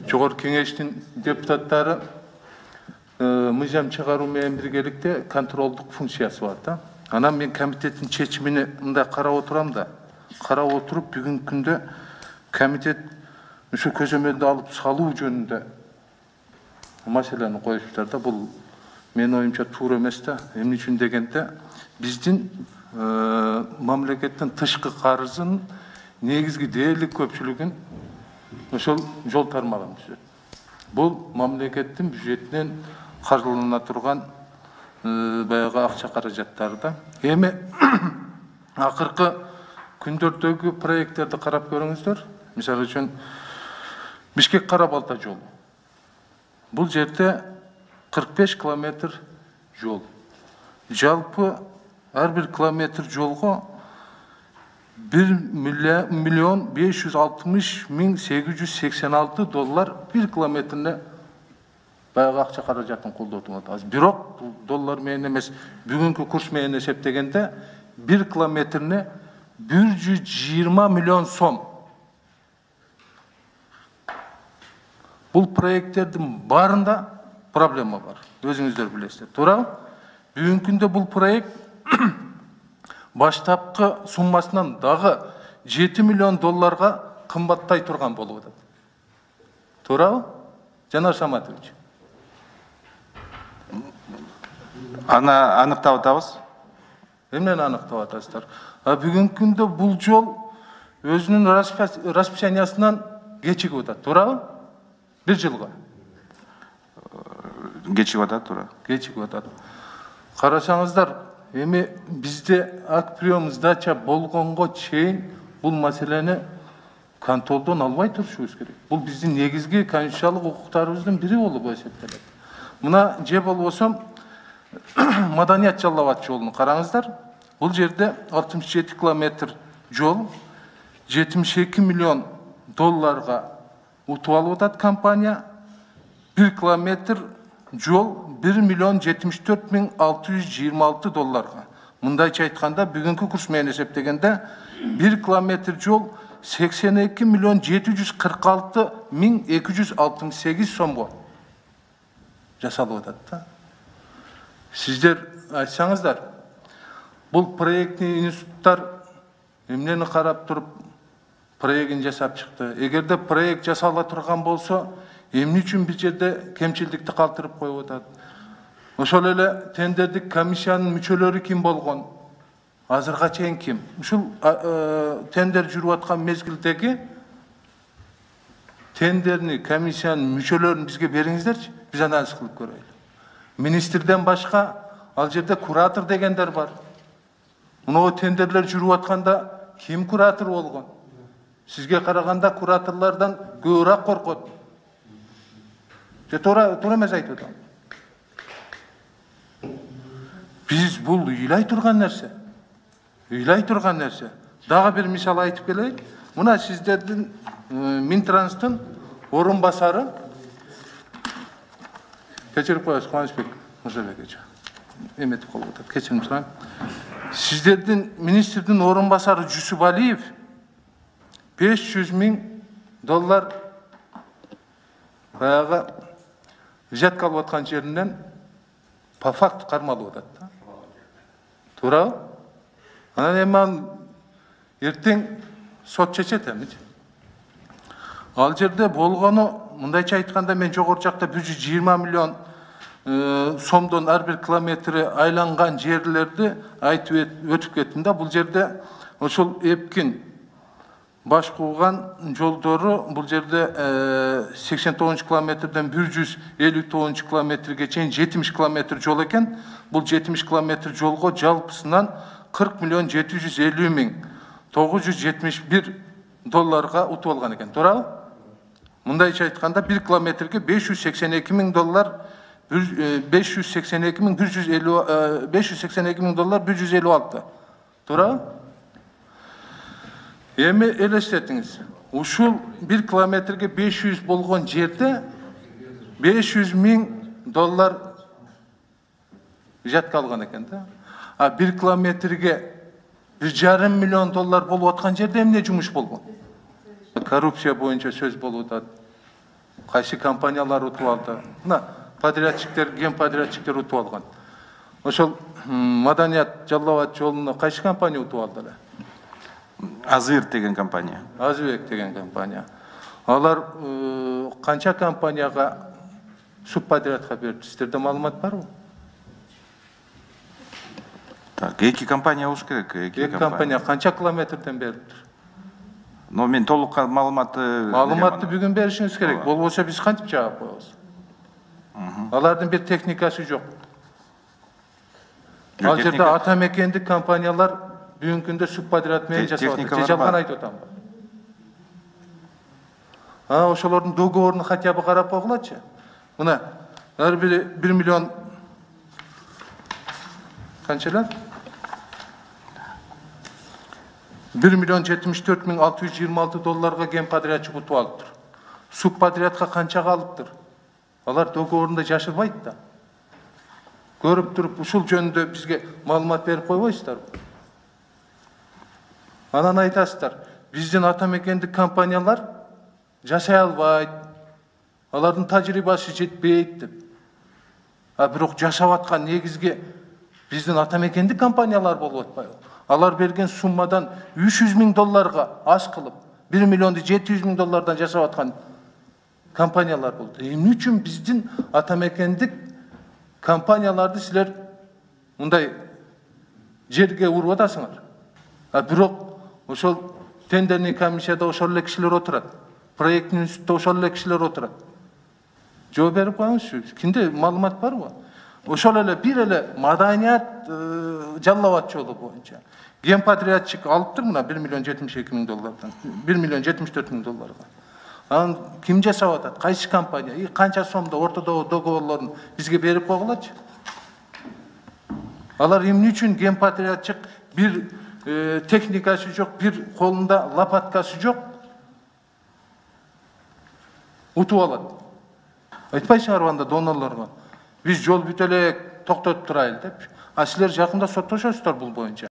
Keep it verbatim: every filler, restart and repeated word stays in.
Жогорку Кеңештин депутаттары мыйзам чыгаруу менен биргеликте контролдук функциясы бар да. Анан мен комитеттин чечимине мындай карап отурам да, карап отуруп бүгүнкү күндө комитет ошо көзөмөлдү алып салуу жөнүндө маселени коюштур да. Бул менин оюмча туура эмес да. Эмне үчүн дегенде биздин мамлекеттин тышкы карызынын негизги дээрлик көпчүлүгүн ошол жол тармагын түзөт. Бул мамлекеттин бюджетинен каржылана турган баягы акча каражаттары да. Эми акыркы күндөрдөгү проекттерди карап көрүңүздөр. Мисалы үчүн Бишкек Кара Балта жолу. Бул жерде кырк беш километр жол. Жалпы ар бир километр жолго бир миллион беш жүз алтымыш миң сегиз жүз сексен алты доллар бир километрине баягы акча каражатын колдотуп атабыз. Бирок бул доллар менен эмес, бүгүнкү курс менен эсептегенде бир километрине бир жүз жыйырма миллион сом. Бул проекттердин баарында проблема бар. Өзүңүздөр билесиздер. Туурабы? Бүгүнкү күндө бул проект баштапкы суммасынан дагы жети миллион долларга кымбаттай турган болуп атат. Туурабы? Жанар Саматович. Аны аныктап атабыз. Эмнени аныктап атасыздар? А бүгүнкү күндө бул жол өзүнүн расписаниясынан кечигип атат. Туурабы? Бир жылга. Кечигип атат, туура. Кечигип атат. Карасаңыздар, эми бизде акт прием сдача болгонго чейин бул маселени контролдон албай турушубуз керек. Бул биздин негизги конституциялык укуктарыбыздын бири болуп эсептелет. Мына же болбосо Маданият Жалал Абад жолун караңыздар. Бул жерде алтымыш жети километр жол жетимиш эки миллион долларга утуп алып атат компания. бир километр жол бир миллион жетимиш төрт миң алты жүз жыйырма алты долларга. Мындайча айтканда, бүгүнкү курс менен эсептегенде бир километр жол сексен эки миллион жети жүз кырк алты миң эки жүз алтымыш сегиз сомго жасалып атат да. Сиздер айтсаңыздар, бул проектный институттар эмнени карап туруп проектин жасап чыкты? Эгерде проект жасала турган болсо, эмне үчүн бир жерде кемчилдикти калтырып коюп атат? Ошол эле тендердик комиссиянын мүчөлөрү ким болгон? Азырга чейин ким? Ушул тендер жүрүп аткан мезгилдеги тендерни, комиссиянын мүчөлөрүн бизге бериңиздерчи, биз анализ кылып көрөлү. Министрден башка ал жерде куратор дегендер бар. Мына тендерлер жүрүп атканда ким куратор болгон? Сизге караганда кураторлордон көбүрөөк коркот. Же туура туура эмес айтып атам. Биз бул ыйлай турган нерсе. Ыйлай турган нерсе. Дагы бир мисал айтып келейин. Мына сиздердин Минтранстын орун басары кечирип коесуз, Кубанычбек Мырзабекович. Эметип калып атат. Кечирим сурайм. Сиздердин министрдин орун басары Жусупалиев беш жүз миң доллар баягы взятка алып аткан жеринен по факту кармалып атат да. Туурабы? Анан эми эртең сот чечет эмичи. Ал жерде болгону, мындайча айтканда, мен жогору жакта бир жүз жыйырма миллион сомдон ар бир километри айланган жерлерди айтып өтүп кеттим да. Бул жерде ошол эпкин баш кууган жолдору бул жерде сексен тогузунчу километрден бир жүз элүү тогузунчу километрге чейин жетимиш километр жол экен. Бул жетимиш километр жолго жалпысынан кырк миллион жети жүз элүү миң тогуз жүз жетимиш бир долларга утуп алган экен. Туурабы? Мындайча айтканда бир километрге беш жүз сексен эки миң доллар беш жүз сексен эки миң бир жүз элүү беш жүз сексен эки миң доллар бир жүз элүү алты. Туурабы? Эми элестетиңиз. Ушул бир километрге беш жүз болгон жерде беш жүз миң доллар жатка алган экен да. А бир километрге бир жарым миллион доллар болуп аткан жерде эмне жумуш болгон? Коррупция боюнча сөз болуп атат. Кайсы компаниялар утуп алды? Мына подрядчиктер, ген подрядчиктер утуп алган. Ошол Маданият Жалал Абад жолуна кайсы компания утуп алды эле? Азыр деген компания. Азыбек деген компания. Алар канча компанияга субподрядка берди? Сиздерде маалымат барбы? Так, эки компания болуш керек. Эки компания канча километрден бериптир? Но мен толук маалыматты Маалыматты бүгүн беришиңиз керек. Болбосо биз кантип жаап коебуз? Алардын бир техникасы жок. Ал жерде ата мекендик компаниялар бүгүнкү күндө субподряд менен жасап атат. Же жалган айтып атамбы? А ошолордун договорун хотя бы карап койгулачы. Мына ар бири бир миллион канчалар? бир миллион жетимиш төрт миң алты жүз жыйырма алты долларга ген подрядчик утуп алыптыр. Субподрядка канчага алыптыр? Алар договорунда жашырбайт да. Көрүп туруп ушул жөнүндө бизге маалымат берип койбойсуздарбы? Анан айтасыздар, биздин ата мекендик компаниялар жашай албайт, алардын тажрыйбасы жетпейт деп. А бирок жашап аткан негизги биздин ата мекендик компаниялар болуп атпайбы? Алар берген суммадан үч жүз миң долларга аз кылып, бир миллионду жети жүз миң доллардан жашап аткан компаниялар болду. Эмне үчүн биздин ата мекендик компанияларды силер мындай жерге уруп атасыңар? А бирок ошол тендерный комиссияда ошол эле кишилер отурат. Проекттин институтта ошол эле кишилер отурат. Жооп берип коюңузчу. Кимде маалымат барбы? Ошол эле бир эле Маданият Жалал Абад жолу боюнча ген подрядчик алыптыр мына бир миллион жетимиш эки миң доллардан, бир миллион жетимиш төрт миң долларга. Анан ким жасап атат? Кайсы компания? И канча сомдо ортодогу договорлорун бизге берип койгулачы. Алар эмне үчүн ген подрядчик бир техникасы жок, бир колунда лопаткасы жок утуп алат? Айтпайсыңарбы анда донорлорго? Биз жол бүтө элек, токтотуп турайлы деп. А силер жакында соттошосуздар бул боюнча.